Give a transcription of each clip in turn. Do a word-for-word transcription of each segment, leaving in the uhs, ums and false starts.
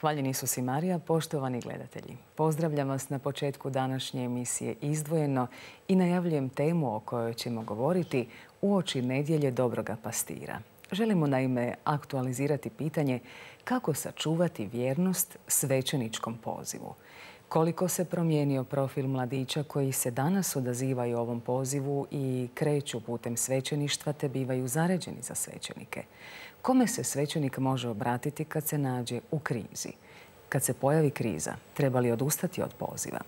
Hvaljen Isus i Marija, poštovani gledatelji. Pozdravljam vas na početku današnje emisije Izdvojeno i najavljujem temu o kojoj ćemo govoriti uoči nedjelje Dobroga pastira. Želimo naime aktualizirati pitanje kako sačuvati vjernost svećeničkom pozivu. Koliko se promijenio profil mladića koji se danas odazivaju ovom pozivu i kreću putem svećeništva te bivaju zaređeni za svećenike. Kome se svećenik može obratiti kad se nađe u krizi? Kad se pojavi kriza, treba li odustati od poziva?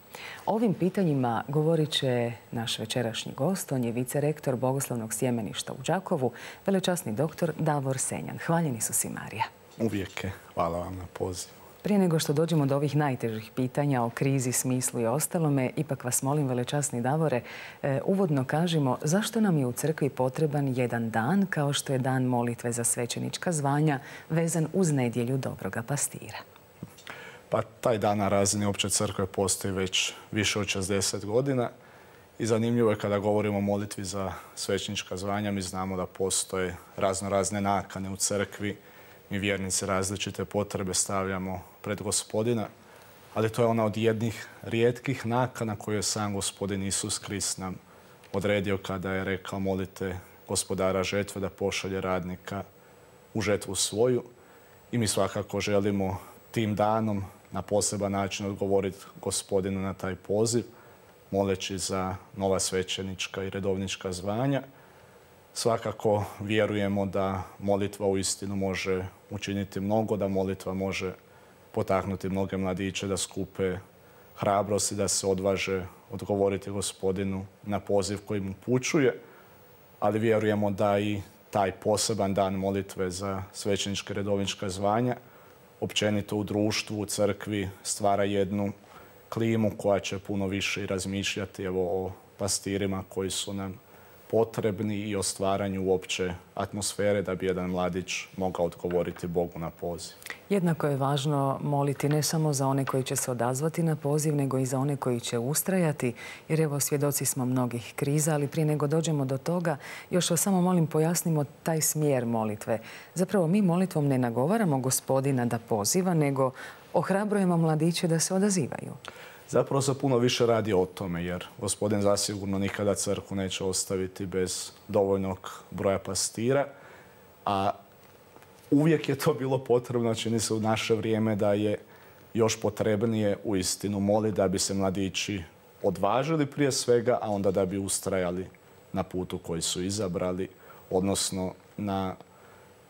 O ovim pitanjima govorit će naš večerašnji gost. On je vicerektor Bogoslovnog sjemeništa u Đakovu, velečasni doktor Davor Senjan. Hvaljen Isus i Marija. Uvijek je. Hvala vam na pozivu. Prije nego što dođemo do ovih najtežih pitanja o krizi, smislu i ostalome, ipak vas molim, velečasni Davore, uvodno kažimo zašto nam je u crkvi potreban jedan dan kao što je dan molitve za svećenička zvanja vezan uz nedjelju Dobroga pastira. Pa taj dan na razini opće crkve postoji već više od šezdeset godina i zanimljivo je kada govorimo o molitvi za svećenička zvanja, mi znamo da postoje razno razne nakane u crkvi. Mi vjernici različite potrebe stavljamo pred Gospodina, ali to je ona od jednih rijetkih nakana koju je sam Gospodin Isus Krist nam odredio kada je rekao molite Gospodara žetve da pošalje radnika u žetvu svoju. I mi svakako želimo tim danom na poseban način odgovoriti Gospodinu na taj poziv, moleći za nova svećenička i redovnička zvanja. Svakako vjerujemo da molitva uistinu može učiniti mnogo, da molitva može potaknuti mnoge mladiće da skupe hrabrost i da se odvaže odgovoriti Gospodinu na poziv koji mu upućuje, ali vjerujemo da i taj poseban dan molitve za svećenička i redovnička zvanja općenito u društvu, u crkvi stvara jednu klimu koja će puno više i razmišljati evo, o pastirima koji su nam potrebni i o stvaranju uopće atmosfere da bi jedan mladić mogao odgovoriti Bogu na poziv. Jednako je važno moliti ne samo za one koji će se odazvati na poziv, nego i za one koji će ustrajati, jer evo svjedoci smo mnogih kriza, ali prije nego dođemo do toga, još vas samo molim pojasnimo taj smjer molitve. Zapravo mi molitvom ne nagovaramo Gospodina da poziva, nego ohrabrujemo mladiće da se odazivaju. Zapravo se puno više radi o tome, jer Gospodin zasigurno nikada crkvu neće ostaviti bez dovoljnog broja pastira, a uvijek je to bilo potrebno, čini se u naše vrijeme da je još potrebnije uistinu moliti da bi se mladići odvažili prije svega, a onda da bi ustrajali na putu koji su izabrali, odnosno na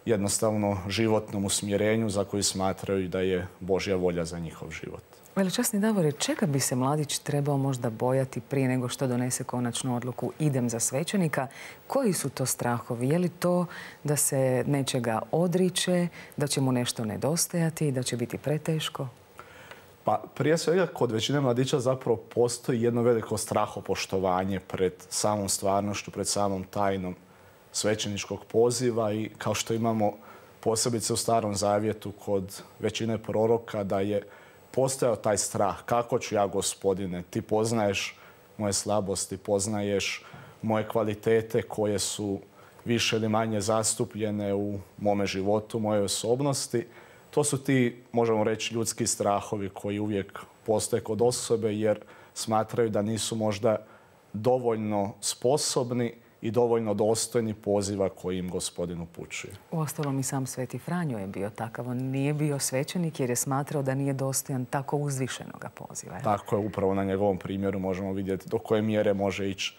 jednostavno životnom usmjerenju za koji smatraju da je Božja volja za njihov život. Velečasni Davore, čega bi se mladić trebao možda bojati prije nego što donese konačnu odluku idem za svećenika? Koji su to strahovi? Je li to da se nečega odriče, da će mu nešto nedostajati, da će biti preteško? Pa prije svega kod većine mladića zapravo postoji jedno veliko strahopoštovanje pred samom stvarnošću, pred samom tajnom svećeničkog poziva i kao što imamo posebice u Starom Zavjetu kod većine proroka da je postojao taj strah. Kako ću ja, Gospodine? Ti poznaješ moje slabosti, poznaješ moje kvalitete koje su više ili manje zastupljene u mome životu, mojoj osobnosti. To su ti, možemo reći, ljudski strahovi koji uvijek postoje kod osobe jer smatraju da nisu možda dovoljno sposobni i dovoljno dostojni poziva koji im Gospodin upućuje. Uostalom i sam Sveti Franjo je bio takav. On nije bio svećenik jer je smatrao da nije dostojan tako uzvišenoga poziva. Tako je, upravo na njegovom primjeru možemo vidjeti do koje mjere može ići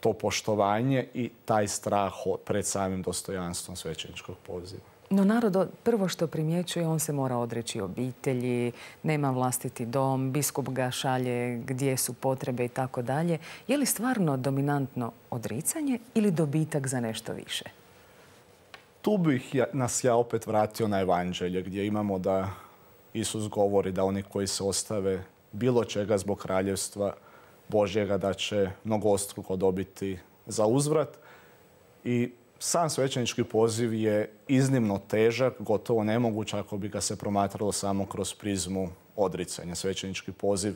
to poštovanje i taj strah pred samim dostojanstvom svećeničkog poziva. No narod prvo što primjećuje, on se mora odreći obitelji, nema vlastiti dom, biskup ga šalje gdje su potrebe i tako dalje. Je li stvarno dominantno odricanje ili dobitak za nešto više? Tu bih ja, nas ja opet vratio na evanđelje gdje imamo da Isus govori da oni koji se ostave bilo čega zbog kraljevstva Božjega da će mnogostruko dobiti za uzvrat. I sam svećenički poziv je iznimno težak, gotovo nemoguć ako bi ga se promatralo samo kroz prizmu odricanja. Svećenički poziv,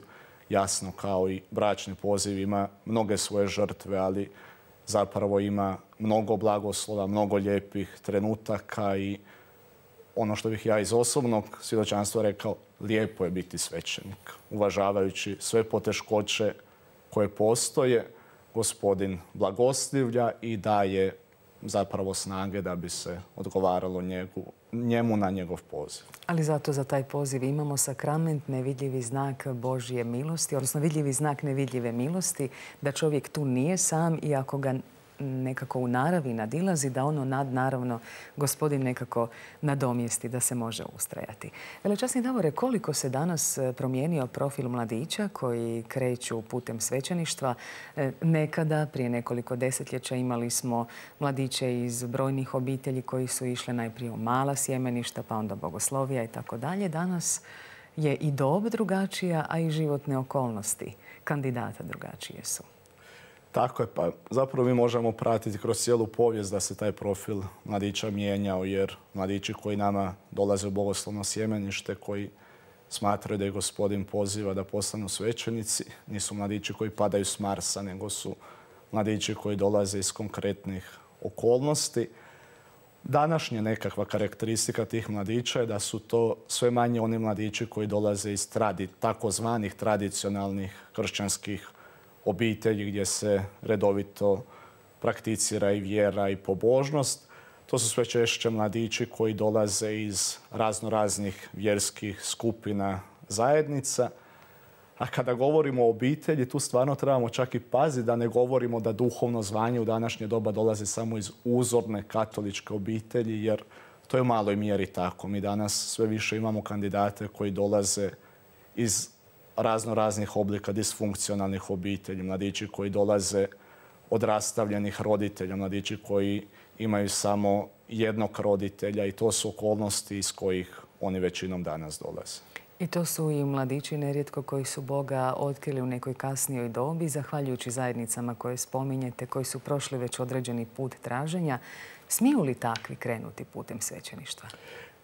jasno kao i bračni poziv, ima mnoge svoje žrtve, ali zapravo ima mnogo blagoslova, mnogo lijepih trenutaka i ono što bih ja iz osobnog svjedočanstva rekao, lijepo je biti svećenik. Uvažavajući sve poteškoće koje postoje, Gospodin blagoslivlja i daje zapravo snage da bi se odgovaralo njegu, njemu na njegov poziv. Ali zato za taj poziv imamo sakrament, nevidljivi znak Božje milosti, odnosno vidljivi znak nevidljive milosti, da čovjek tu nije sam i ako ga nekako u naravi nadilazi, da ono nadnaravno Gospodin nekako nadomjesti, da se može ustrajati. Velečasni Davore, koliko se danas promijenio profil mladića koji kreću putem svećeništva? Nekada, prije nekoliko desetljeća, imali smo mladiće iz brojnih obitelji koji su išle najprije u mala sjemeništa, pa onda bogoslovija i tako dalje. Danas je i dob drugačija, a i životne okolnosti kandidata drugačije su. Tako je, pa zapravo mi možemo pratiti kroz cijelu povijest da se taj profil mladića mijenjao, jer mladići koji nama dolaze u bogoslovno sjemenište, koji smatraju da je Gospodin poziva da postanu svećenici, nisu mladići koji padaju s Marsa, nego su mladići koji dolaze iz konkretnih okolnosti. Današnja nekakva karakteristika tih mladića je da su to sve manje oni mladići koji dolaze iz tradi, takozvanih tradicionalnih kršćanskih obitelji gdje se redovito prakticira i vjera i pobožnost. To su sve češće mladići koji dolaze iz razno raznih vjerskih skupina, zajednica. A kada govorimo o obitelji, tu stvarno trebamo čak i paziti da ne govorimo da duhovno zvanje u današnje doba dolazi samo iz uzorne katoličke obitelji, jer to je u maloj mjeri tako. Mi danas sve više imamo kandidate koji dolaze iz razno raznih oblika disfunkcionalnih obitelji, mladići koji dolaze od rastavljenih roditelja, mladići koji imaju samo jednog roditelja i to su okolnosti iz kojih oni većinom danas dolaze. I to su i mladići nerijetko koji su Boga otkrili u nekoj kasnijoj dobi, zahvaljujući zajednicama koje spominjete, koji su prošli već određeni put traženja. Smiju li takvi krenuti putem svećeništva?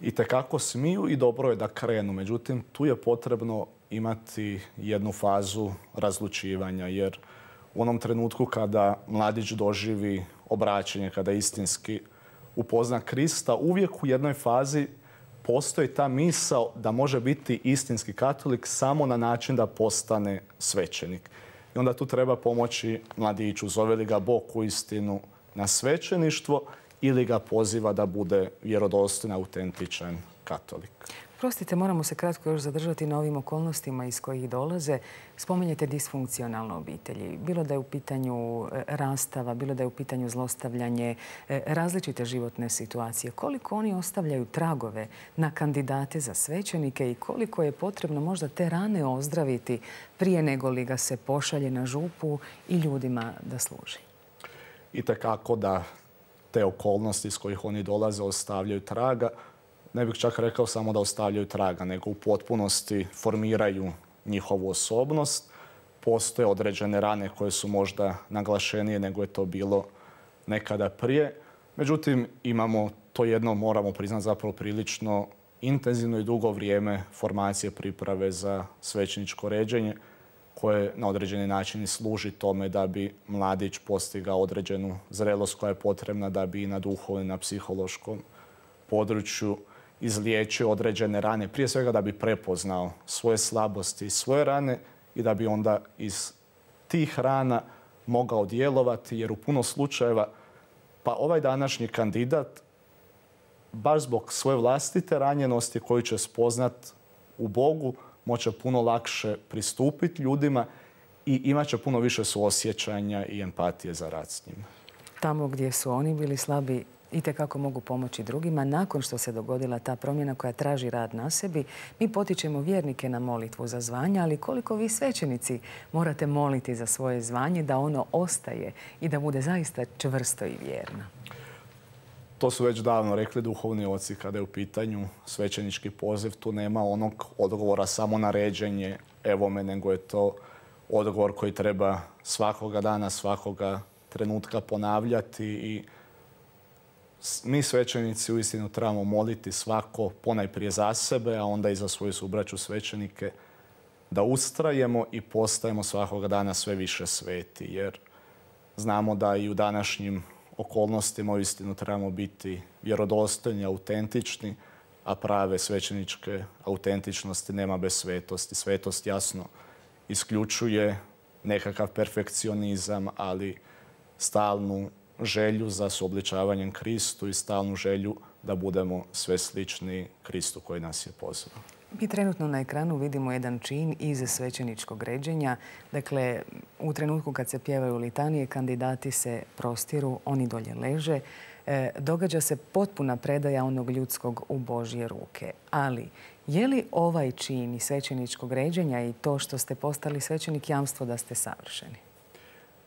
Itekako smiju i dobro je da krenu. Međutim, tu je potrebno imati jednu fazu razlučivanja, jer u onom trenutku kada mladić doživi obraćanje, kada istinski upozna Krista, uvijek u jednoj fazi postoji ta misao da može biti istinski katolik samo na način da postane svećenik. I onda tu treba pomoći mladiću, zove li ga Bog uistinu na svećeništvo ili ga poziva da bude vjerodostojan, autentičan katolik. Prostite, moramo se kratko još zadržati na ovim okolnostima iz kojih dolaze. Spominjete disfunkcionalne obitelji. Bilo da je u pitanju rastava, bilo da je u pitanju zlostavljanje, različite životne situacije. Koliko oni ostavljaju tragove na kandidate za svećenike i koliko je potrebno možda te rane ozdraviti prije nego li ga se pošalje na župu i ljudima da služi? Itekako da te okolnosti iz kojih oni dolaze ostavljaju traga. Ne bih čak rekao samo da ostavljaju traga, nego u potpunosti formiraju njihovu osobnost. Postoje određene rane koje su možda naglašenije nego je to bilo nekada prije. Međutim, imamo to jedno, moramo priznati, zapravo prilično intenzivno i dugo vrijeme formacije priprave za svećeničko ređenje, koje na određeni način služi tome da bi mladić postigao određenu zrelost koja je potrebna da bi i na duhovnom i na psihološkom području izliječio određene rane. Prije svega da bi prepoznao svoje slabosti i svoje rane i da bi onda iz tih rana mogao djelovati, jer u puno slučajeva pa ovaj današnji kandidat baš zbog svoje vlastite ranjenosti koju će spoznat u Bogu moće puno lakše pristupiti ljudima i imat će puno više suosjećanja i empatije za rad s njima. Tamo gdje su oni bili slabi itekako mogu pomoći drugima. Nakon što se dogodila ta promjena koja traži rad na sebi, mi potičemo vjernike na molitvu za zvanje, ali koliko vi svećenici morate moliti za svoje zvanje da ono ostaje i da bude zaista čvrsto i vjerno? To su već davno rekli duhovni oci kada je u pitanju svećenički poziv. Tu nema onog odgovora samo na ređenje, evo me, nego je to odgovor koji treba svakoga dana, svakoga trenutka ponavljati i mi svećenici uistinu trebamo moliti svako ponajprije za sebe, a onda i za svoju subraću svećenike, da ustrajemo i postajemo svakoga dana sve više sveti, jer znamo da i u današnjim okolnostima uistinu trebamo biti vjerodostojni, autentični, a prave svećeničke autentičnosti nema bez svetosti. Svetost jasno isključuje nekakav perfekcionizam, ali stalnu želju za suobličavanjem Kristu i stalnu želju da budemo sve slični Kristu koji nas je pozvao. Mi trenutno na ekranu vidimo jedan čin iz svećeničkog ređenja. Dakle, u trenutku kad se pjevaju litanije, kandidati se prostiru, oni dolje leže. E, događa se potpuna predaja onog ljudskog u Božje ruke. Ali, je li ovaj čin iz svećeničkog ređenja i to što ste postali svećenik jamstvo da ste savršeni?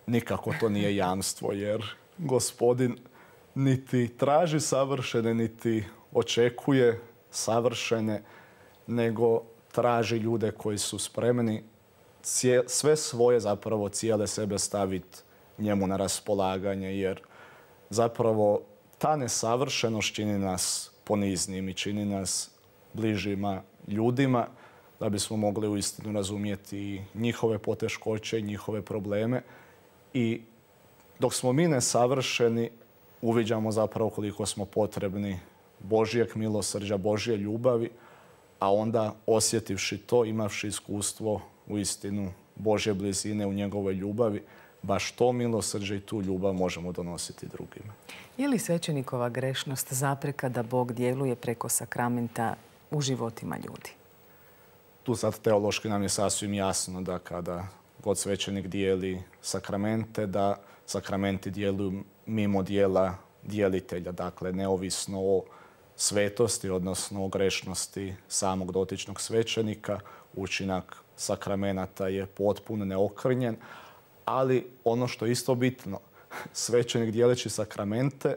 Nikako to nije jamstvo, jer Gospodin niti traži savršene, niti očekuje savršene, nego traži ljude koji su spremni sve svoje, zapravo cijele sebe staviti njemu na raspolaganje, jer zapravo ta nesavršenost čini nas poniznim i čini nas bližima ljudima, da bismo mogli uistinu razumjeti njihove poteškoće, njihove probleme. I dok smo mi nesavršeni, uviđamo zapravo koliko smo potrebni Božjeg milosrđa, Božje ljubavi, a onda osjetivši to, imavši iskustvo uistinu Božje blizine u njegovoj ljubavi, baš to milosrđe i tu ljubav možemo donositi drugima. Je li svećenikova grešnost zapreka da Bog djeluje preko sakramenta u životima ljudi? Tu sad teološki nam je sasvim jasno da kada god svećenik dijeli sakramente, da sakramenti djeluju mimo dijela djelitelja, dakle neovisno o svetosti, odnosno o grešnosti samog dotičnog svećenika. Učinak sakramenata je potpuno neokrnjen, ali ono što je isto bitno, svećenik dijeleći sakramente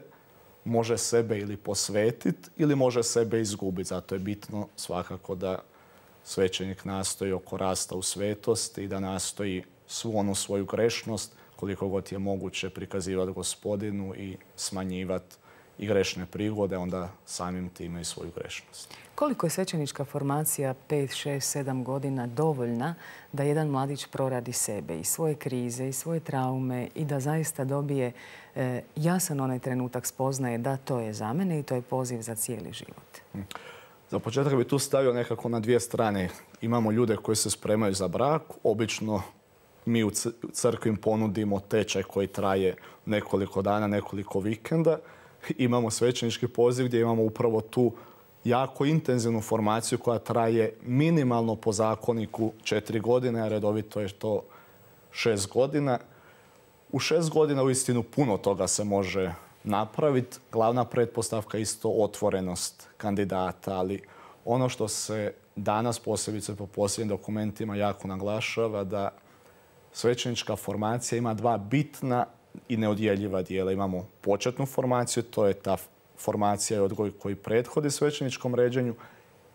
može sebe ili posvetiti ili može sebe izgubiti. Zato je bitno svakako da svećenik nastoji oko rasta u svetosti i da nastoji svu onu svoju grešnost koliko god je moguće prikazivati Gospodinu i smanjivati i grešne prigode, onda samim time i svoju grešnost. Koliko je svećenička formacija pet, šest, sedam godina dovoljna da jedan mladić proradi sebe i svoje krize i svoje traume i da zaista dobije e, jasan onaj trenutak spoznaje da to je za mene i to je poziv za cijeli život? Za početak bi tu stavio nekako na dvije strane. Imamo ljude koji se spremaju za brak. Obično mi u crkvi im ponudimo tečaj koji traje nekoliko dana, nekoliko vikenda. Imamo svećenički poziv gdje imamo upravo tu jako intenzivnu formaciju koja traje minimalno po zakoniku četiri godine, a redovito je to šest godina. U šest godina uistinu puno toga se može napraviti. Glavna pretpostavka je isto otvorenost kandidata, ali ono što se danas posebice po posljednjim dokumentima jako naglašava da svećenička formacija ima dva bitna i neodjeljiva dijela. Imamo početnu formaciju, to je ta formacija i odgoj koji prethodi svećeničkom ređenju,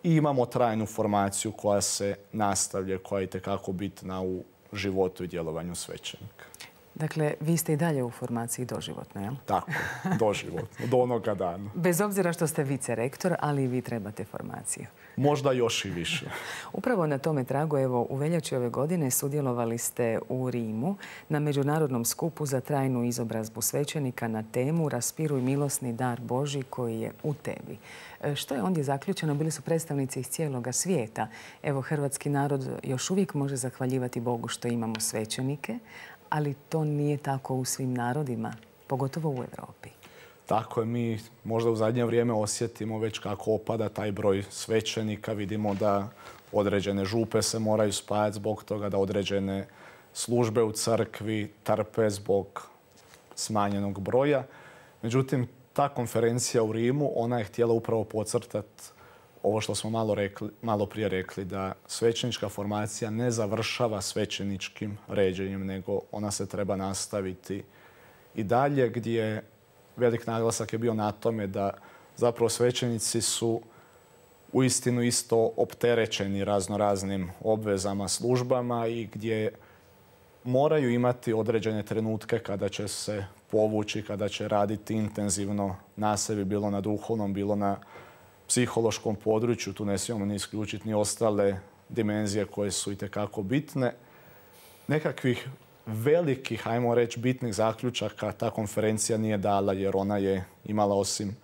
i imamo trajnu formaciju koja se nastavlja, koja je itekako bitna u životu i djelovanju svećenika. Dakle, vi ste i dalje u formaciji doživotno, jel? Tako, doživotno, do onoga dana. Bez obzira što ste vicerektor, ali i vi trebate formaciju. Možda još i više. Upravo na tome tragu, evo, u veljači ove godine sudjelovali ste u Rimu na međunarodnom skupu za trajnu izobrazbu svećenika na temu Raspiruj milosni dar Božji koji je u tebi. Što je ondje zaključeno? Bili su predstavnici iz cijeloga svijeta. Evo, hrvatski narod još uvijek može zahvaljivati Bogu što imamo svećenike, ali to nije tako u svim narodima, pogotovo u Europi. Tako je, mi možda u zadnje vrijeme osjetimo već kako opada taj broj svećenika. Vidimo da određene župe se moraju spajati zbog toga, da određene službe u crkvi trpe zbog smanjenog broja. Međutim, ta konferencija u Rimu, ona je htjela upravo podcrtati ovo što smo malo, rekli, malo prije rekli, da svećenička formacija ne završava svećeničkim ređenjem, nego ona se treba nastaviti i dalje, gdje velik naglasak je bio na tome da zapravo svećenici su uistinu isto opterećeni razno raznim obvezama, službama i gdje moraju imati određene trenutke kada će se povući, kada će raditi intenzivno na sebi, bilo na duhovnom, bilo na psihološkom području. Tu ne smijemo ni isključiti ni ostale dimenzije koje su itekako bitne. Nekakvih velikih, ajmo reći, bitnih zaključaka ta konferencija nije dala, jer ona je imala osim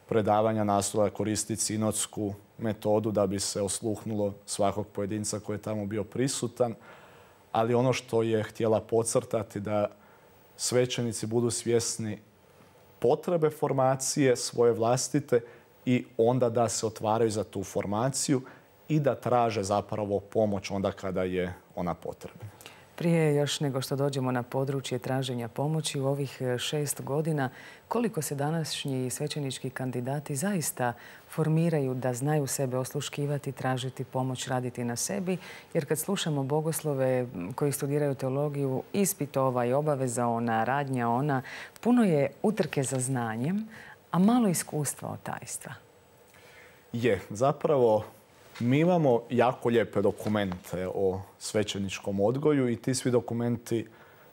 predavanja nastoja koristiti sinodsku metodu da bi se osluhnulo svakog pojedinca koji je tamo bio prisutan. Ali ono što je htjela podcrtati da svećenici budu svjesni potrebe formacije svoje vlastite i onda da se otvaraju za tu formaciju i da traže zapravo pomoć onda kada je ona potrebna. Prije još nego što dođemo na područje traženja pomoći u ovih šest godina, koliko se današnji svećenički kandidati zaista formiraju da znaju sebe osluškivati, tražiti pomoć, raditi na sebi? Jer kad slušamo bogoslove koji studiraju teologiju, ispit ovaj, obaveza ona, radnja ona, puno je utrke za znanjem, a malo iskustva od tajstva. Je, zapravo mi imamo jako lijepe dokumente o svećeničkom odgoju i ti svi dokumenti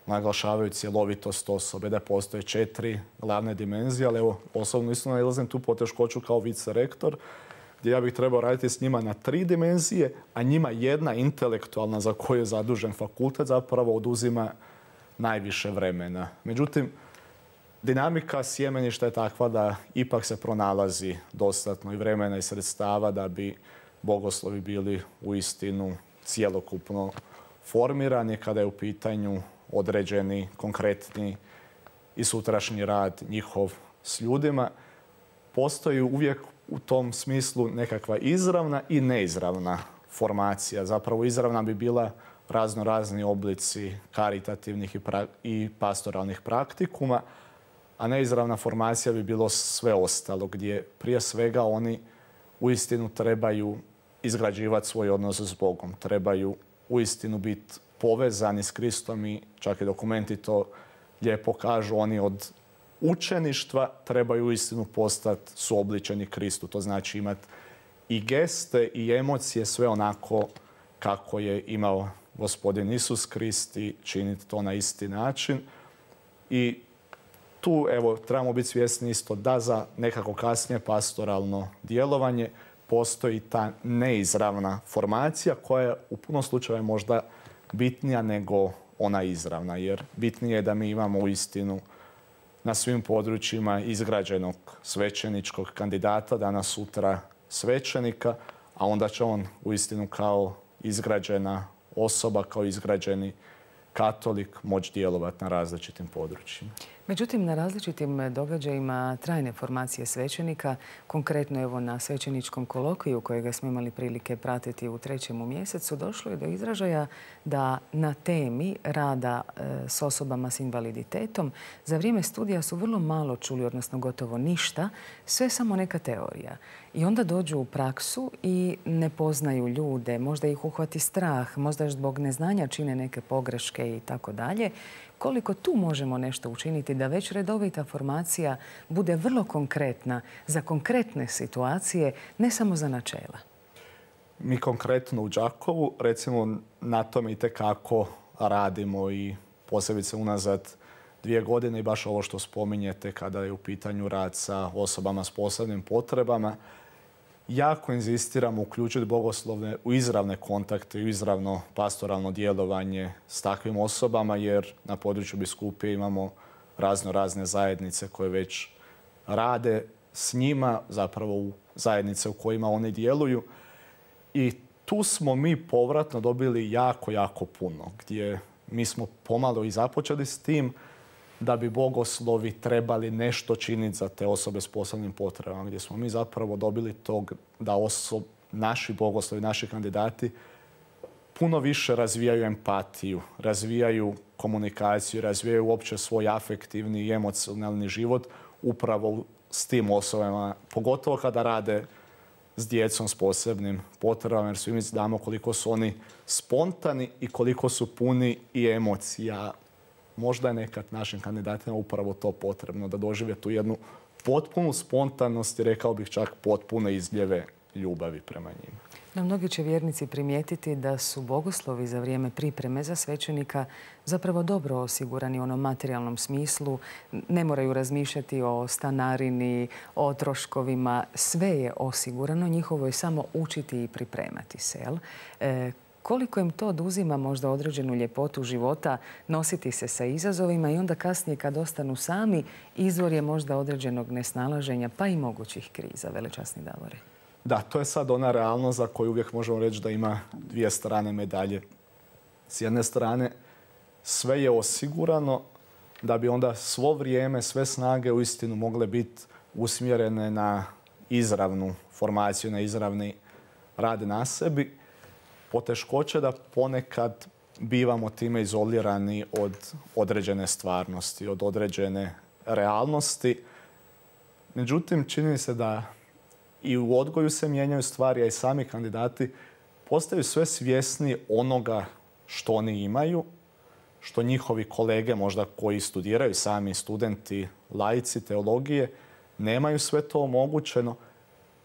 naglašavaju cjelovitost osobe, da postoje četiri glavne dimenzije, ali evo, osobno isto nailazim tu poteškoću kao vicerektor, gdje ja bih trebao raditi s njima na tri dimenzije, a njima jedna intelektualna za koju je zadužen fakultet zapravo oduzima najviše vremena. Međutim, dinamika sjemeništa je takva da ipak se pronalazi dostatno i vremena i sredstava da bi bogoslovi bili uistinu cjelokupno formirani kada je u pitanju određeni, konkretni i sutrašnji rad njihov s ljudima. Postoji uvijek u tom smislu nekakva izravna i neizravna formacija. Zapravo izravna bi bila razno razni oblici karitativnih i, pra- i pastoralnih praktikuma, a neizravna formacija bi bilo sve ostalo, gdje prije svega oni uistinu trebaju izgrađivati svoj odnos s Bogom. Trebaju uistinu biti povezani s Kristom i čak i dokumenti to lijepo kažu. Oni od učeništva trebaju uistinu postati suobličeni Kristu. To znači imati i geste i emocije sve onako kako je imao Gospodin Isus Krist i činiti to na isti način. I tu evo, trebamo biti svjesni isto da za nekako kasnije pastoralno djelovanje postoji ta neizravna formacija koja je u puno slučajeva možda bitnija nego ona izravna. Jer bitnije je da mi imamo uistinu na svim područjima izgrađenog svećeničkog kandidata, danas sutra svećenika, a onda će on uistinu kao izgrađena osoba, kao izgrađeni katolik moći djelovati na različitim područjima. Međutim, na različitim događajima trajne formacije svećenika, konkretno evo na svećeničkom kolokviju kojega smo imali prilike pratiti u trećem mjesecu, došlo je do izražaja da na temi rada e, s osobama s invaliditetom za vrijeme studija su vrlo malo čuli, odnosno gotovo ništa, sve samo neka teorija. I onda dođu u praksu i ne poznaju ljude, možda ih uhvati strah, možda zbog neznanja čine neke pogreške i tako dalje. Koliko tu možemo nešto učiniti da već redovita formacija bude vrlo konkretna za konkretne situacije, ne samo za načela? Mi konkretno u Đakovu, recimo, na tome itekako radimo i posebice unazad dvije godine i baš ovo što spominjete kada je u pitanju rad sa osobama s posebnim potrebama. Jako inzistiramo uključiti bogoslovne u izravne kontakte i u izravno pastoralno djelovanje s takvim osobama, jer na području biskupije imamo razno razne zajednice koje već rade s njima, zapravo u zajednice u kojima oni djeluju. I tu smo mi povratno dobili jako, jako puno, gdje mi smo pomalo i započeli s tim da bi bogoslovi trebali nešto činiti za te osobe s posebnim potrebama, gdje smo mi zapravo dobili tog da osob, naši bogoslovi, naši kandidati puno više razvijaju empatiju, razvijaju komunikaciju, razvijaju uopće svoj afektivni i emocionalni život upravo s tim osobama, pogotovo kada rade s djecom s posebnim potrebama, jer svi mi znamo koliko su oni spontani i koliko su puni i emocija. Možda je nekad našim kandidatima upravo to potrebno, da dožive tu jednu potpunu spontanost i rekao bih čak potpune izljeve ljubavi prema njima. No, mnogi će vjernici primijetiti da su bogoslovi za vrijeme pripreme za svećenika zapravo dobro osigurani u onom materijalnom smislu. Ne moraju razmišljati o stanarini, o troškovima. Sve je osigurano. Njihovo je samo učiti i pripremati se. Jel? E, koliko im to oduzima možda određenu ljepotu života, nositi se sa izazovima i onda kasnije kad ostanu sami, izvor je možda određenog nesnalaženja pa i mogućih kriza, velečasni Davore. Da, to je sad ona realnost za koju uvijek možemo reći da ima dvije strane medalje. S jedne strane, sve je osigurano da bi onda svo vrijeme, sve snage uistinu mogle biti usmjerene na izravnu formaciju, na izravni rad na sebi. Poteškoće da ponekad bivamo time izolirani od određene stvarnosti, od određene realnosti. Međutim, čini mi se da i u odgoju se mijenjaju stvari, a i sami kandidati postaju sve svjesni onoga što oni imaju, što njihovi kolege možda koji studiraju, sami studenti, laici teologije, nemaju sve to omogućeno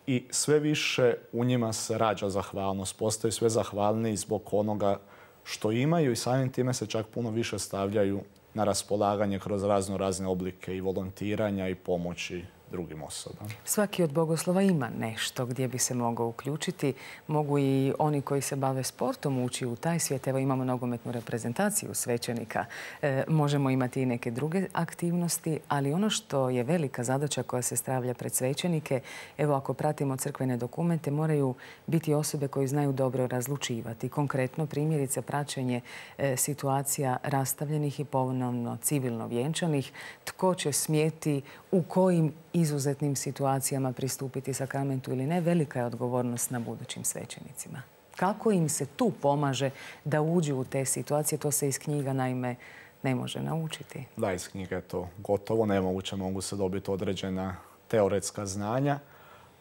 i sve više u njima se rađa zahvalnost. Postaju sve zahvalniji zbog onoga što imaju i samim time se čak puno više stavljaju na raspolaganje kroz razno razne oblike i volontiranja i pomoći drugim osobama. Svaki od bogoslova ima nešto gdje bi se mogao uključiti. Mogu i oni koji se bave sportom ući u taj svijet. Evo imamo nogometnu reprezentaciju svećenika. E, možemo imati i neke druge aktivnosti, ali ono što je velika zadaća koja se stavlja pred svećenike, evo ako pratimo crkvene dokumente, moraju biti osobe koji znaju dobro razlučivati. Konkretno primjerice praćenje e, situacija rastavljenih i ponovno civilno vjenčanih. Tko će smjeti u kojim izuzetnim situacijama pristupiti sakramentu ili ne, velika je odgovornost na budućim svećenicima. Kako im se tu pomaže da uđu u te situacije, to se iz knjiga naime ne može naučiti. Da, iz knjiga je to gotovo nemoguće, mogu se dobiti određena teoretska znanja,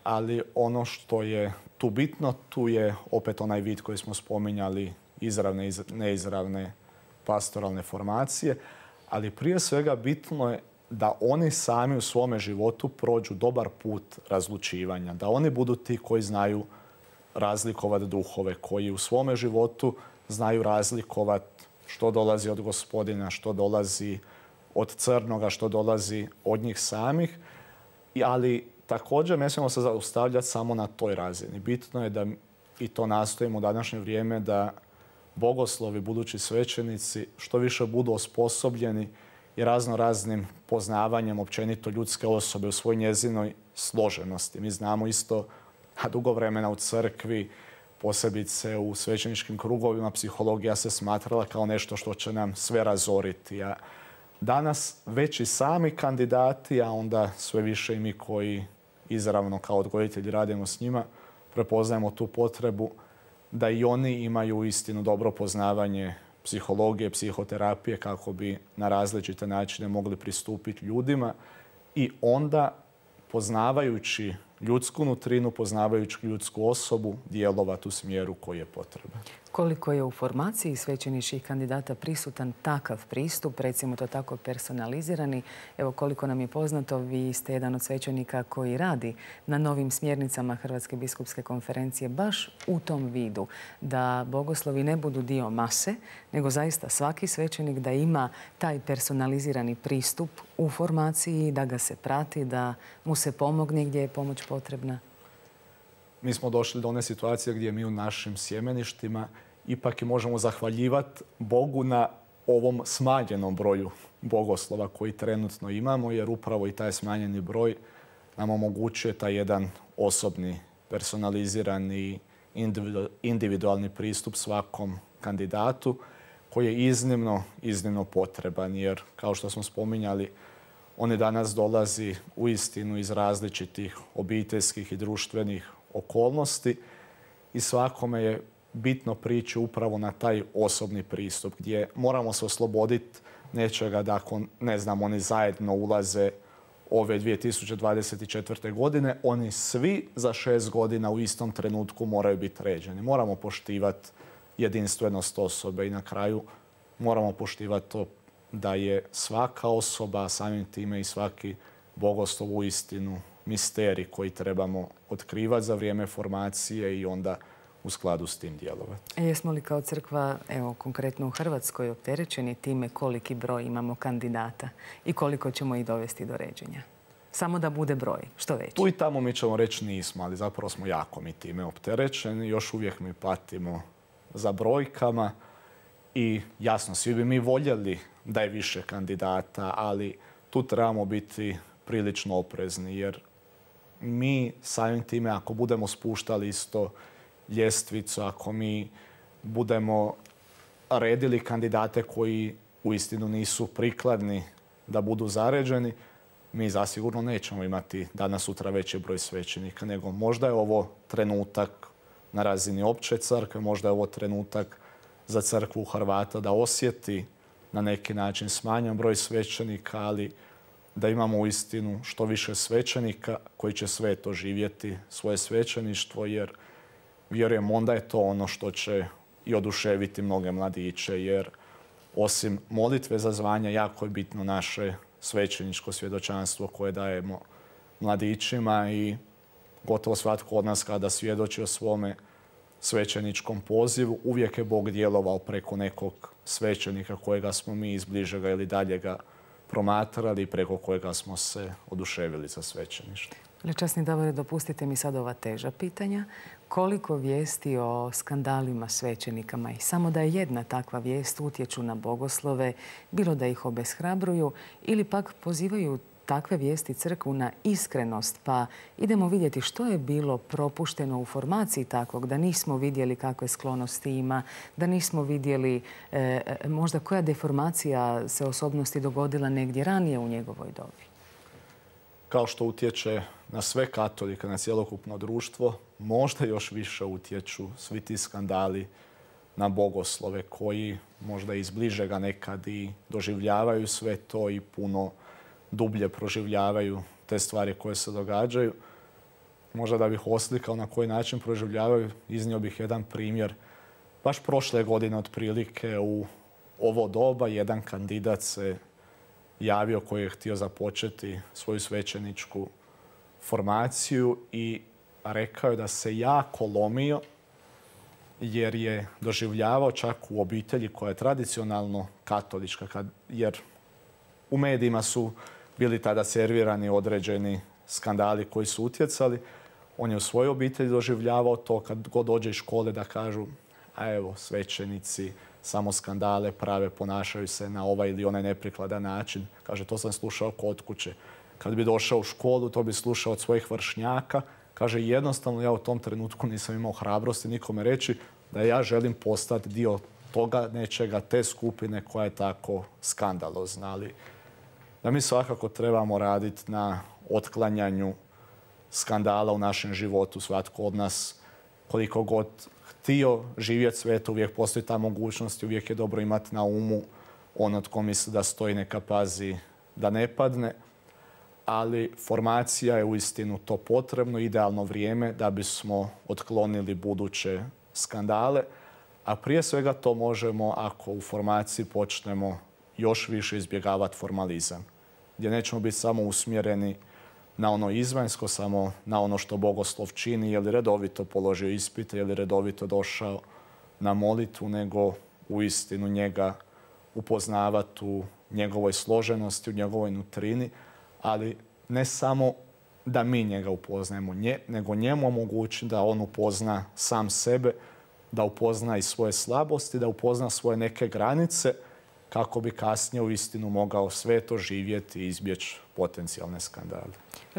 ali ono što je tu bitno, tu je opet onaj vid koji smo spominjali, izravne i neizravne pastoralne formacije, ali prije svega bitno je da oni sami u svome životu prođu dobar put razlučivanja, da oni budu ti koji znaju razlikovati duhove, koji u svome životu znaju razlikovati što dolazi od Gospodina, što dolazi od crnoga, što dolazi od njih samih, ali također ne smijemo se zaustavljati samo na toj razini. Bitno je da, i to nastojimo u današnje vrijeme, da bogoslovi, budući svećenici, što više budu osposobljeni i razno raznim poznavanjem općenito ljudske osobe u svoj njezinoj složenosti. Mi znamo isto, a dugo vremena u crkvi, posebice u svećeničkim krugovima, psihologija se smatrala kao nešto što će nam sve razoriti. A danas već i sami kandidati, a onda sve više i mi koji izravno kao odgojitelji radimo s njima, prepoznajemo tu potrebu da i oni imaju istinu dobro poznavanje psihologije, psihoterapije kako bi na različite načine mogli pristupiti ljudima i onda poznavajući ljudsku nutrinu, poznavajući ljudsku osobu, djelovati u smjeru koji je potreban. Koliko je u formaciji svećeničkih kandidata prisutan takav pristup, recimo to tako personalizirani? Evo koliko nam je poznato, vi ste jedan od svećenika koji radi na novim smjernicama Hrvatske biskupske konferencije baš u tom vidu, da bogoslovi ne budu dio mase, nego zaista svaki svećenik da ima taj personalizirani pristup u formaciji, da ga se prati, da mu se pomogne gdje je pomoć potrebna. Mi smo došli do one situacije gdje mi u našim sjemeništima ipak i možemo zahvaljivati Bogu na ovom smanjenom broju bogoslova koji trenutno imamo, jer upravo i taj smanjeni broj nam omogućuje taj jedan osobni, personalizirani, individualni pristup svakom kandidatu koji je iznimno, iznimno potreban, jer kao što smo spominjali, oni danas dolazi uistinu iz različitih obiteljskih i društvenih okolnosti i svakome je bitno prići upravo na taj osobni pristup gdje moramo se osloboditi nečega da ako, ne znam, oni zajedno ulaze ove dvije tisuće dvadeset četvrte. godine, oni svi za šest godina u istom trenutku moraju biti ređeni. Moramo poštivati jedinstvenost osobe i na kraju moramo poštivati to da je svaka osoba, samim time i svaki bogoslov uistinu misterij koji trebamo otkrivati za vrijeme formacije i onda u skladu s tim djelovati. Jesmo li kao crkva, evo konkretno u Hrvatskoj, opterećeni time koliki broj imamo kandidata i koliko ćemo ih dovesti do ređenja? Samo da bude broj, što veći. Tu i tamo mi ćemo reći nismo, ali zapravo smo jako mi time opterećeni. Još uvijek mi patimo za brojkama i jasno, svi bi mi voljeli da je više kandidata, ali tu trebamo biti prilično oprezni jer mi samim time ako budemo spuštali isto ljestvicu, ako mi budemo redili kandidate koji uistinu nisu prikladni da budu zaređeni, mi zasigurno nećemo imati danas sutra veći broj svećenika, nego možda je ovo trenutak na razini opće crkve, možda je ovo trenutak za crkvu Hrvata da osjeti na neki način smanjen broj svećenika, ali da imamo uistinu što više svećenika koji će sveto živjeti svoje svećeništvo, jer vjerujem onda je to ono što će i oduševiti mnoge mladiće, jer osim molitve za zvanja jako je bitno naše svećeničko svjedočanstvo koje dajemo mladićima i gotovo svatko od nas kada svjedoči o svome svećeničkom pozivu, uvijek je Bog djelovao preko nekog svećenika kojega smo mi iz bližega ili daljega promatrali i preko kojega smo se oduševili za svećeništvo. Časni Davore, dopustite mi sad ova teža pitanja. Koliko vijesti o skandalima svećenikama i samo da je jedna takva vijest utječu na bogoslove, bilo da ih obeshrabruju ili pak pozivaju takve vijesti crkvu na iskrenost, pa idemo vidjeti što je bilo propušteno u formaciji takvog, da nismo vidjeli kakve sklonosti ima, da nismo vidjeli e, možda koja deformacija se osobnosti dogodila negdje ranije u njegovoj dobi. Kao što utječe na sve katolike, na cjelokupno društvo, možda još više utječu svi ti skandali na bogoslove koji možda iz bližega nekad i doživljavaju sve to i puno dublje proživljavaju te stvari koje se događaju. Možda da bih oslikao na koji način proživljavaju, iznio bih jedan primjer. Baš prošle godine otprilike u ovo doba jedan kandidat se javio koji je htio započeti svoju svećeničku formaciju i rekao je da se jako lomio jer je doživljavao čak u obitelji koja je tradicionalno katolička, jer u medijima su bili tada servirani određeni skandali koji su utjecali. On je u svojoj obitelji doživljavao to kad god dođe iz škole da kažu a evo svećenici samo skandale prave, ponašaju se na ovaj ili onaj neprikladan način. Kaže, to sam slušao kod kuće. Kad bi došao u školu, to bi slušao od svojih vršnjaka. Kaže, jednostavno ja u tom trenutku nisam imao hrabrosti nikome reći da ja želim postati dio toga nečega, te skupine koja je tako skandalozna. Ali da mi svakako trebamo raditi na otklanjanju skandala u našem životu. Svatko od nas, koliko god htio živjeti sveto, uvijek postoji ta mogućnost i uvijek je dobro imati na umu ono tko misli da stoji neka pazi da ne padne. Ali formacija je uistinu to potrebno, idealno vrijeme da bismo otklonili buduće skandale. A prije svega to možemo ako u formaciji počnemo još više izbjegavati formalizam. Gdje nećemo biti samo usmjereni na ono izvanjsko, samo na ono što bogoslov čini, je li redovito položio ispite, je li redovito došao na molitvu, nego uistinu njega upoznavati u njegovoj složenosti, u njegovoj nutrini, ali ne samo da mi njega upoznajemo, nje, nego njemu omogući da on upozna sam sebe, da upozna i svoje slabosti, da upozna svoje neke granice, kako bi kasnije uistinu mogao sveto živjeti i izbjeći potencijalne skandale.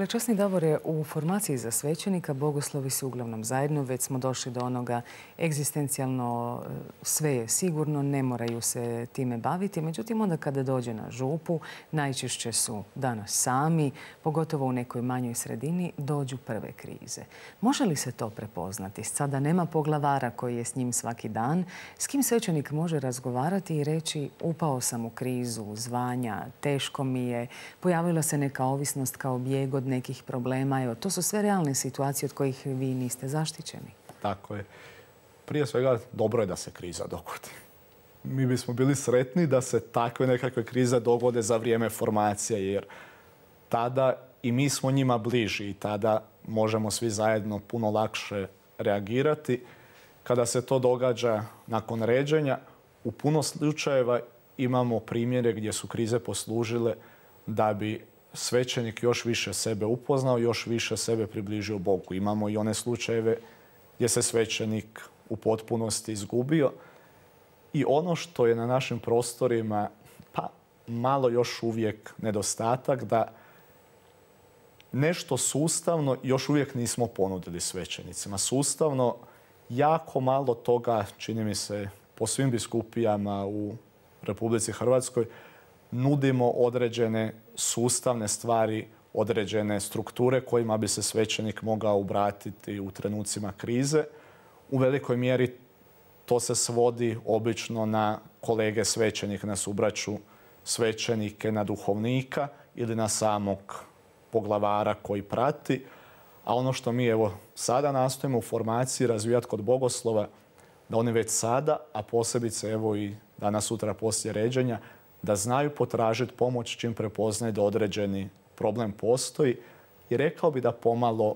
Časni Davore, u formaciji za svećenika bogoslovi su uglavnom zajedno. Već smo došli do onoga egzistencijalno sve je sigurno, ne moraju se time baviti. Međutim, onda kada dođe na župu, najčešće su danas sami, pogotovo u nekoj manjoj sredini, dođu prve krize. Može li se to prepoznati? Sada nema poglavara koji je s njim svaki dan. S kim svećenik može razgovarati i reći upao sam u krizu, zvanja, teško mi je, pojavila se neka ovisnost kao bijeg od nekih problema. Evo, to su sve realne situacije od kojih vi niste zaštićeni. Tako je. Prije svega, dobro je da se kriza dogodi. Mi bismo bili sretni da se takve nekakve krize dogode za vrijeme formacije, jer tada i mi smo njima bliži i tada možemo svi zajedno puno lakše reagirati. Kada se to događa nakon ređenja, u puno slučajeva imamo primjere gdje su krize poslužile da bi svećenik još više sebe upoznao, još više sebe približio Bogu. Imamo i one slučajeve gdje se svećenik u potpunosti izgubio. I ono što je na našim prostorima pa malo još uvijek nedostatak, da nešto sustavno još uvijek nismo ponudili svećenicima. Sustavno jako malo toga, čini mi se, po svim biskupijama u Republici Hrvatskoj nudimo određene sustavne stvari, određene strukture kojima bi se svećenik mogao obratiti u trenucima krize. U velikoj mjeri to se svodi obično na kolege svećenike, na subraću svećenike, na duhovnika ili na samog poglavara koji prati. A ono što mi evo sada nastojimo u formaciji razvijati kod bogoslova, da oni već sada, a posebice evo i danas sutra poslije ređenja, da znaju potražiti pomoć čim prepoznaju da određeni problem postoji. I rekao bi da pomalo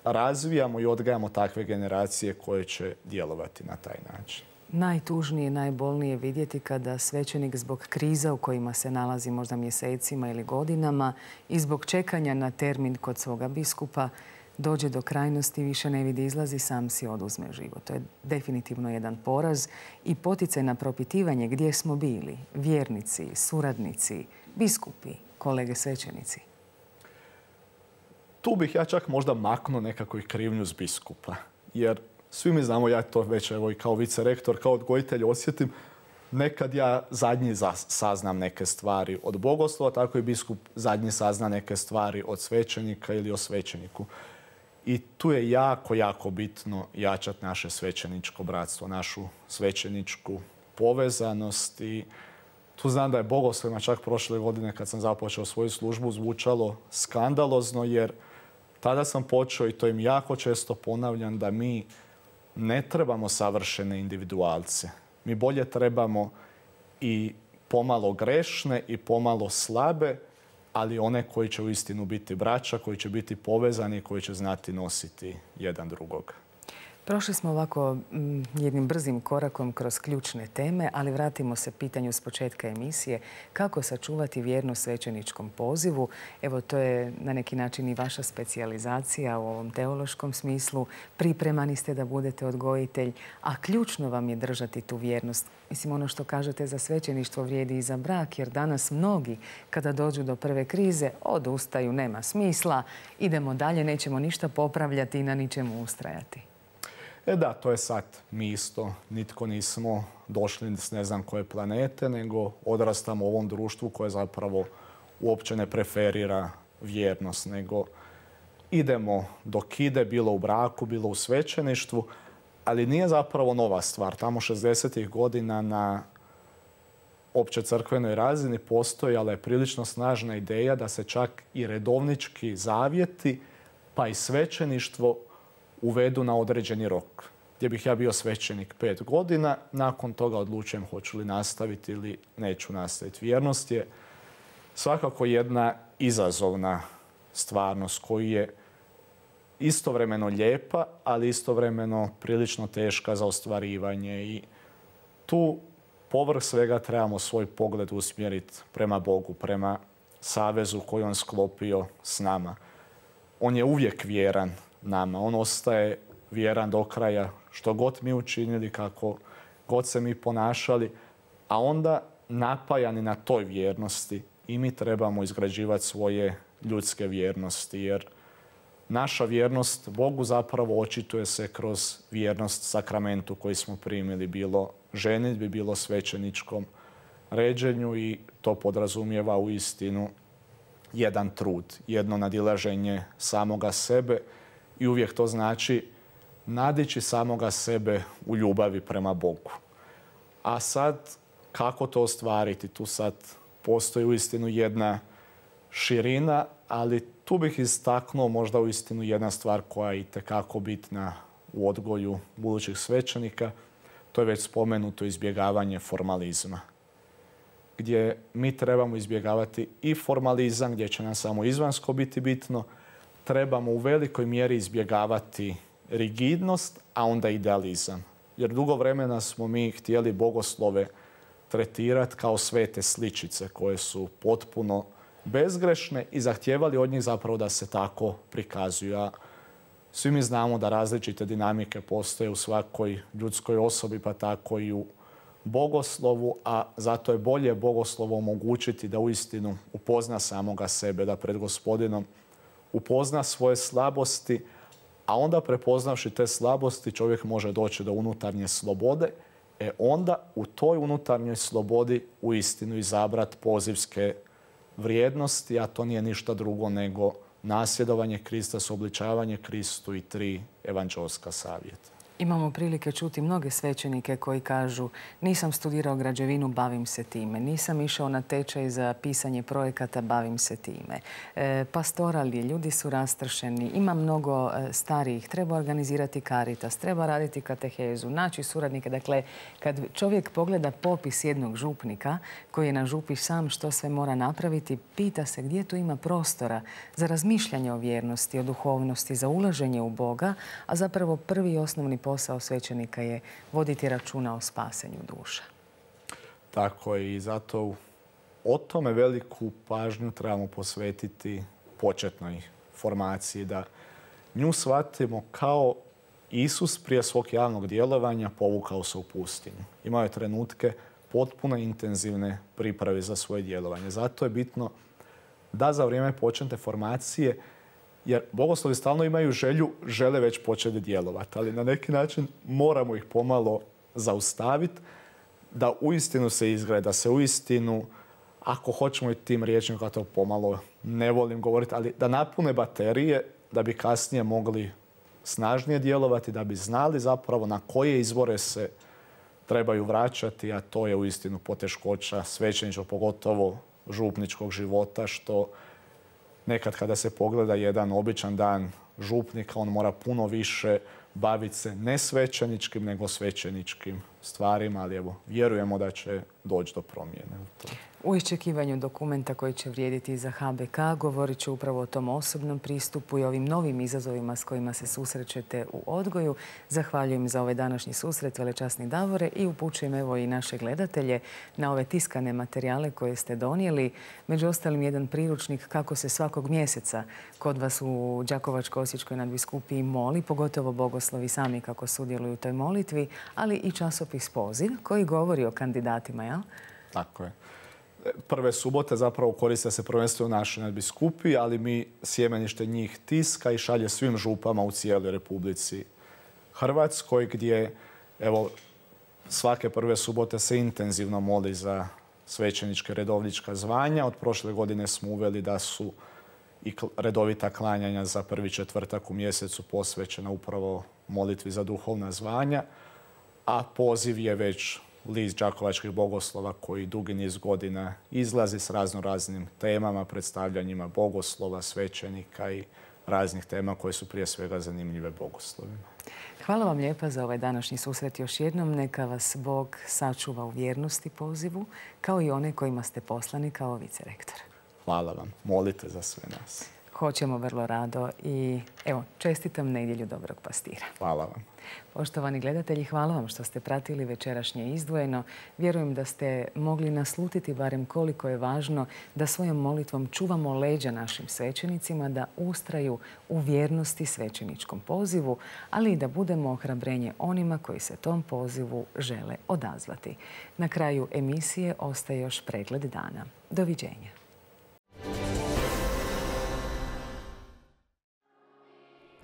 razvijamo i odgajamo takve generacije koje će djelovati na taj način. Najtužnije, najbolnije vidjeti kada svećenik zbog kriza u kojima se nalazi možda mjesecima ili godinama i zbog čekanja na termin kod svoga biskupa dođe do krajnosti, više ne vidi izlazi, sam si oduzme život. To je definitivno jedan poraz i poticaj na propitivanje gdje smo bili, vjernici, suradnici, biskupi, kolege svećenici. Tu bih ja čak možda maknuo nekako i krivnju s biskupa. Jer svi mi znamo, ja to već evo i kao vicerektor, kao odgojitelj osjetim, nekad ja zadnji saznam neke stvari od bogoslova, tako i biskup zadnji sazna neke stvari od svećenika ili o svećeniku. I tu je jako, jako bitno jačati naše svećeničko bratstvo, našu svećeničku povezanost. I tu znam da je bogoslovima čak prošle godine kad sam započeo svoju službu zvučalo skandalozno, jer tada sam počeo, i to im jako često ponavljam, da mi ne trebamo savršene individualce. Mi bolje trebamo i pomalo grešne i pomalo slabe, ali one koji će uistinu biti braća, koji će biti povezani i koji će znati nositi jedan drugog. Prošli smo ovako jednim brzim korakom kroz ključne teme, ali vratimo se pitanju s početka emisije. Kako sačuvati vjernost svećeničkom pozivu? Evo, to je na neki način i vaša specijalizacija u ovom teološkom smislu. Pripremani ste da budete odgojitelj, a ključno vam je držati tu vjernost. Mislim, ono što kažete za svećeništvo vrijedi i za brak, jer danas mnogi, kada dođu do prve krize, odustaju, nema smisla, idemo dalje, nećemo ništa popravljati i na ničemu ustrajati. E da, to je sad. Mi isto nitko nismo došli s ne znam koje planete, nego odrastamo u ovom društvu koje zapravo uopće ne preferira vjernost, nego idemo dok ide, bilo u braku, bilo u svećeništvu, ali nije zapravo nova stvar. Tamo šezdesetih godina na opće crkvenoj razini postojala je prilično snažna ideja da se čak i redovnički zavjeti, pa i svećeništvo uvedu na određeni rok, gdje bih ja bio svećenik pet godina, nakon toga odlučujem hoću li nastaviti ili neću nastaviti. Vjernost je svakako jedna izazovna stvarnost koju je istovremeno lijepa, ali istovremeno prilično teška za ostvarivanje. I tu povrh svega trebamo svoj pogled usmjeriti prema Bogu, prema savezu koji on sklopio s nama. On je uvijek vjeran nama. On ostaje vjeran do kraja što god mi učinili, kako god se mi ponašali, a onda napajani na toj vjernosti i mi trebamo izgrađivati svoje ljudske vjernosti, jer naša vjernost Bogu zapravo očituje se kroz vjernost sakramentu koji smo primili, bilo ženidbi, bilo svećeničkom ređenju, i to podrazumijeva u istinu jedan trud, jedno nadilaženje samoga sebe. I uvijek to znači nadići samoga sebe u ljubavi prema Bogu. A sad, kako to ostvariti? Tu sad postoji uistinu jedna širina, ali tu bih istaknuo možda uistinu jedna stvar koja je itekako bitna u odgoju budućih svećenika. To je već spomenuto izbjegavanje formalizma, gdje mi trebamo izbjegavati i formalizam, gdje će nam samo izvanjsko biti bitno. Trebamo u velikoj mjeri izbjegavati rigidnost, a onda idealizam. Jer dugo vremena smo mi htjeli bogoslove tretirati kao svete sličice koje su potpuno bezgrešne i zahtijevali od njih zapravo da se tako prikazuju. A Svi mi znamo da različite dinamike postoje u svakoj ljudskoj osobi, pa tako i u bogoslovu, a zato je bolje bogoslovo omogućiti da uistinu upozna samoga sebe, da pred Gospodinom upozna svoje slabosti, a onda prepoznavši te slabosti čovjek može doći do unutarnje slobode, e onda u toj unutarnjoj slobodi uistinu izabrati pozivske vrijednosti, a to nije ništa drugo nego nasljedovanje Krista, suobličavanje Kristu i tri evanđelska savjeta. Imamo prilike čuti mnoge svećenike koji kažu nisam studirao građevinu, bavim se time. Nisam išao na tečaj za pisanje projekata, bavim se time. E, pastorali, ljudi su rastršeni, ima mnogo e, starijih, treba organizirati Caritas, treba raditi katehezu, naći suradnike. Dakle, kad čovjek pogleda popis jednog župnika koji je na župi sam što sve mora napraviti, pita se gdje tu ima prostora za razmišljanje o vjernosti, o duhovnosti, za ulaženje u Boga, a zapravo prvi i osnovni posao svećenika je voditi računa o spasenju duša. Tako je, i zato o tome veliku pažnju trebamo posvetiti početnoj formaciji, da nju shvatimo kao Isus prije svog javnog djelovanja povukao se u pustinju. Imao je trenutke potpuno intenzivne priprave za svoje djelovanje. Zato je bitno da za vrijeme početne formacije, jer bogoslovi stalno imaju želju, žele već početi djelovati, ali na neki način moramo ih pomalo zaustaviti da uistinu se izgrade, da se uistinu, ako hoćemo i tim riječima, kao to pomalo ne volim govoriti, ali da napune baterije da bi kasnije mogli snažnije djelovati, da bi znali zapravo na koje izvore se trebaju vraćati, a to je uistinu poteškoća svećeničkog, pogotovo župničkog života, što nekad kada se pogleda jedan običan dan župnika, on mora puno više baviti se ne svećeničkim, nego svećeničkim stvarima, ali evo, vjerujemo da će doći do promjene u to. U iščekivanju dokumenta koji će vrijediti za H B K govorit ću upravo o tom osobnom pristupu i ovim novim izazovima s kojima se susrećete u odgoju. Zahvaljujem za ovaj današnji susret, velečasni Davore, i upućujem evo i naše gledatelje na ove tiskane materijale koje ste donijeli. Među ostalim jedan priručnik kako se svakog mjeseca kod vas u Đakovačko-osječkoj nadbiskupiji moli, pogotovo bogoslovi sami kako sudjeluju u toj molitvi, ali i časopis Poziv koji govori o kandidatima, jel? Tako je. Prve subote zapravo koriste se prvenstveno u našoj nadbiskupiji, ali mi sjemenište njih tiska i šalje svim župama u cijeloj Republici Hrvatskoj, gdje evo, svake prve subote se intenzivno moli za svećeničke redovnička zvanja. Od prošle godine smo uveli da su i redovita klanjanja za prvi četvrtak u mjesecu posvećena upravo molitvi za duhovna zvanja, a Poziv je već list đakovačkih bogoslova koji dugi niz godina izlazi s razno raznim temama, predstavljanjima bogoslova, svećenika i raznih tema koje su prije svega zanimljive bogoslovima. Hvala vam lijepa za ovaj današnji susret još jednom. Neka vas Bog sačuva u vjernosti Pozivu, kao i one kojima ste poslani kao vicerektor. Hvala vam. Molite za sve nas. Hoćemo vrlo rado i evo, čestitam nedjelju dobrog pastira. Hvala vam. Poštovani gledatelji, hvala vam što ste pratili večerašnje Izdvojeno. Vjerujem da ste mogli naslutiti barem koliko je važno da svojom molitvom čuvamo leđa našim svećenicima, da ustraju u vjernosti svećeničkom pozivu, ali i da budemo ohrabrenje onima koji se tom pozivu žele odazvati. Na kraju emisije ostaje još pregled dana. Doviđenja.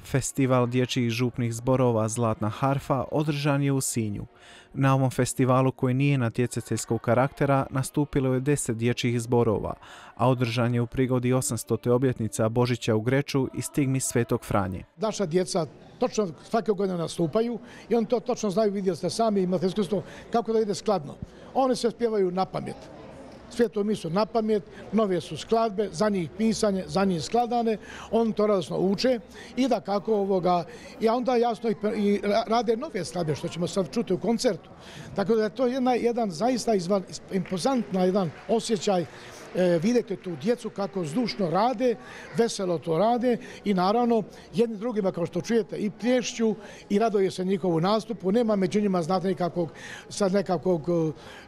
Festival dječjih župnih zborova Zlatna harfa održan je u Sinju. Na ovom festivalu, koji nije natjecateljskog karaktera, nastupilo je deset dječjih zborova, a održan je u prigodi osamstote obljetnica Božića u Greču i stigmi Svetog Franje. Naša djeca točno svake godine nastupaju i oni to točno znaju, vidjeli ste sami, imate iskustvo kako da ide skladno. Oni se spjevaju na pamet. Svetu misu na pamet, nove su skladbe, za njih pisanje, za njih skladane, oni to radosno uče i da kako ovoga, i onda jasno i, i rade nove skladbe, što ćemo sad čuti u koncertu. Tako da je to jedna, jedan zaista izvan, impozantna jedan osjećaj. E, vidite tu djecu kako zdušno rade, veselo to rade i naravno jedni drugima, kao što čujete, i plješću i raduje se njihovu nastupu. Nema među njima, znate, nekakvog, sad nekakvog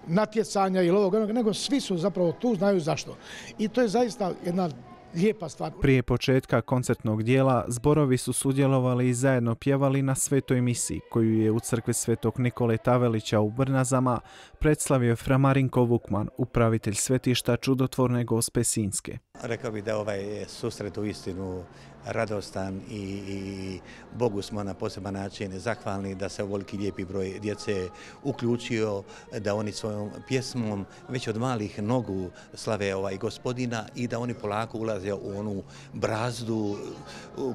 natjecanja ili ovog, nego svi su zapravo tu, znaju zašto. I to je zaista jedna lijepa stvar. Prije početka koncertnog dijela zborovi su sudjelovali i zajedno pjevali na svetoj misiji koju je u crkvi Svetog Nikole Tavelića u Brnazama predstavio fra Marinko Vukman, upravitelj svetišta Čudotvorne Gospe Sinjske. Rekao bih da ovaj susret u istinu radostan i, i Bogu smo na poseban način zahvalni da se ovoliki lijepi broj djece uključio, da oni svojom pjesmom već od malih nogu slave ovaj Gospodina i da oni polako ulaze u onu brazdu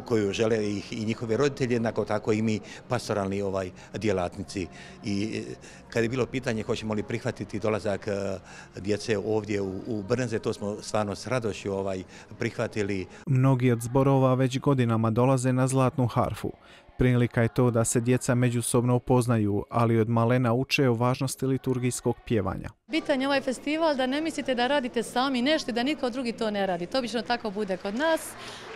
koju žele ih i njihove roditelji, jednako tako i mi pastoralni ovaj djelatnici. I kad je bilo pitanje hoćemo li prihvatiti dolazak djece ovdje u, u Brnze, to smo stvarno s radošću ovaj prihvatili. Mnogi od zborova već godinama dolaze na Zlatnu harfu. Prilika je to da se djeca međusobno upoznaju, ali od malena uče o važnosti liturgijskog pjevanja. Bitan je ovaj festival da ne mislite da radite sami nešto i da nitko drugi to ne radi. To obično tako bude kod nas.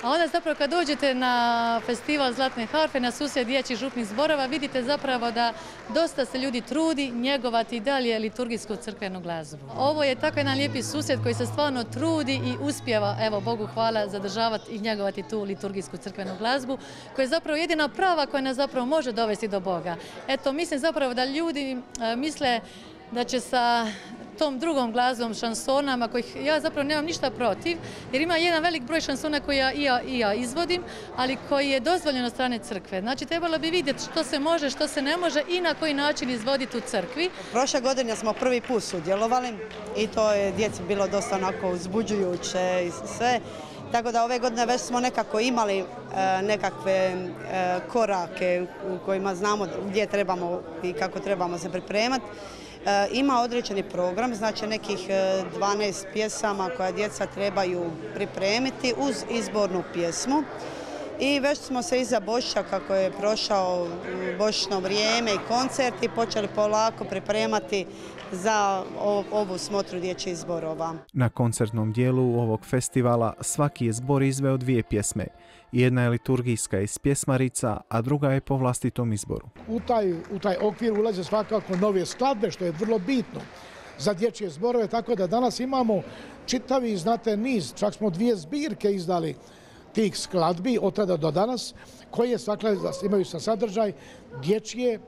A onda zapravo kad dođete na festival Zlatne harfe, na susret dječjih župnih zborova, vidite zapravo da dosta se ljudi trudi njegovati i dalje liturgijsku crkvenu glazbu. Ovo je tako jedan lijepi susret koji se stvarno trudi i uspijeva, evo Bogu hvala, zadržavati i njegovati tu liturgijsku crkvenu glazbu, koja je zapravo jedina prava koja nas zapravo može dovesti do Boga. Eto, mislim zapravo da ljudi misle da će sa tom drugom glazbom, šansonama, kojih ja zapravo nemam ništa protiv, jer ima jedan velik broj šansona koje ja, i, ja, i ja izvodim, ali koji je dozvoljen od strane crkve. Znači, trebalo bi vidjeti što se može, što se ne može i na koji način izvoditi u crkvi. Prošle godine smo prvi put sudjelovali i to je djeci bilo dosta onako uzbuđujuće i sve. Tako da ove godine već smo nekako imali e, nekakve e, korake u kojima znamo gdje trebamo i kako trebamo se pripremati. E, ima određeni program, znači nekih dvanaest pjesama koja djeca trebaju pripremiti uz izbornu pjesmu. I već smo se iza Božića, kako je prošao božićno vrijeme i koncerti, počeli polako pripremati za ovu smotru dječjih zborova. Na koncertnom dijelu ovog festivala svaki je zbor izveo dvije pjesme. Jedna je liturgijska iz pjesmarica, a druga je po vlastitom izboru. U taj, u taj okvir ulaze svakako nove skladbe, što je vrlo bitno za dječje zborove, tako da danas imamo čitavi, znate, niz, čak smo dvije zbirke izdali tih skladbi od tada do danas, koje svakle imaju sa sadržaj dječje,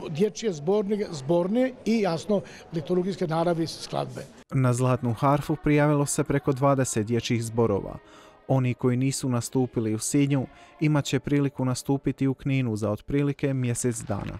dječje zborne, zborne i jasno liturgijske naravi skladbe. Na Zlatnu harfu prijavilo se preko dvadeset dječjih zborova. Oni koji nisu nastupili u Sinju imat će priliku nastupiti u Kninu za otprilike mjesec dana.